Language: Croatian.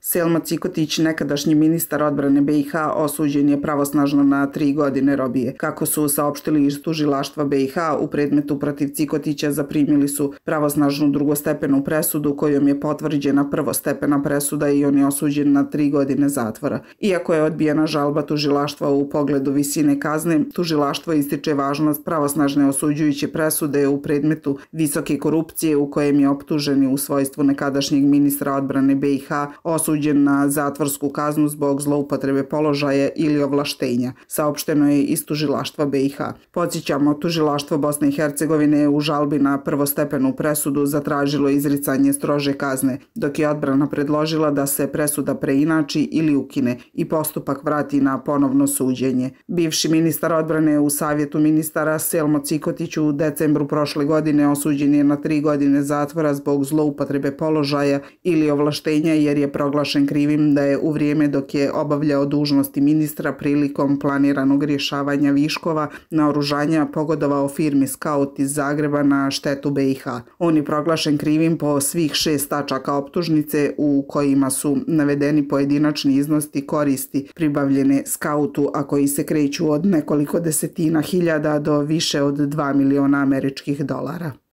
Selma Cikotić, nekadašnji ministar odbrane BiH, osuđen je pravosnažno na 3 godine robije. Kako su saopštili iz tužilaštva BiH, u predmetu protiv Cikotića zaprimili su pravosnažnu drugostepenu presudu kojom je potvrđena prvostepena presuda i on je osuđen na 3 godine zatvora. Iako je odbijena žalba tužilaštva u pogledu visine kazne, tužilaštvo ističe važnost pravosnažne osuđujuće presude u predmetu visoke korupcije u kojem je optuženi u svojstvu nekadašnjeg ministra odbrane BiH osuđen na zatvorsku kaznu zbog zloupotrebe položaja ili ovlaštenja, saopšteno je iz tužilaštva BiH. Podsjećamo, tužilaštvo Bosne i Hercegovine u žalbi na prvostepenu presudu zatražilo izricanje strože kazne, dok je odbrana predložila da se presuda preinači ili ukine i postupak vrati na ponovno suđenje. Bivši ministar odbrane u Savjetu ministara Selmo Cikotić u decembru prošle godine osuđen je na 3 godine zatvora zbog zloupotrebe položaja ili ovlaštenja jer je proglašen krivim da je u vrijeme dok je obavljao dužnosti ministra prilikom planiranog rješavanja viškova naoružanja pogodovao firmi Skaut iz Zagreba na štetu BiH. On je proglašen krivim po svih 6 tačaka optužnice u kojima su navedeni pojedinačni iznosi koristi pribavljene Skautu, a koji se kreću od nekoliko desetina hiljada do više od 2 miliona američkih dolara.